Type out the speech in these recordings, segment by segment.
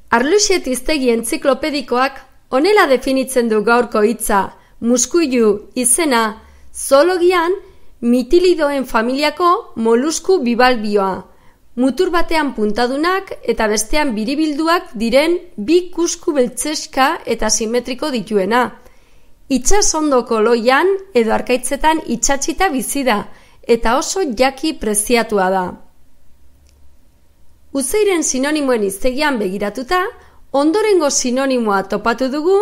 Arluxet hiztegi entziklopedikoak honela definitzen du gaurko hitza, muskuilu izena, zoologian mitilidoen familiako molusku bibalbioa, mutur batean puntadunak eta bestean biribilduak diren bi kusku beltzeska eta simetriko dituena. Itsasondoko loian edo arkaitzetan itsatsita bizi da eta oso jaki preziatua da. Uzeiren sinonimoen hiztegian begiratuta, ondorengo sinonimoa topatu dugu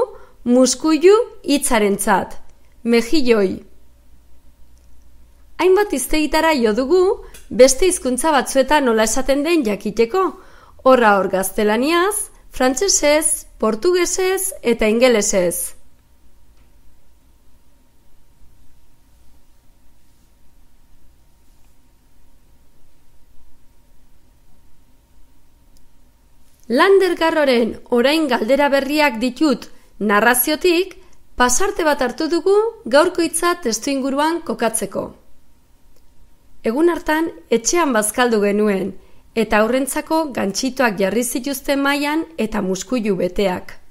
muskuilu hitzarentzat, mejilloi. Hainbat hiztegitara jo dugu, beste hizkuntza batzuetan nola esaten den jakiteko, horra hor gaztelaniaz, frantsesez, portugesez eta ingelesez. Lander Garroren orain galdera berriak ditut narraziotik, pasarte bat hartu dugu gaurko hitza testuinguruan kokatzeko. Egun hartan etxean bazkaldu genuen, eta aurrentzako gantxitoak jarri zituzten mahaian eta muskuilu beteak.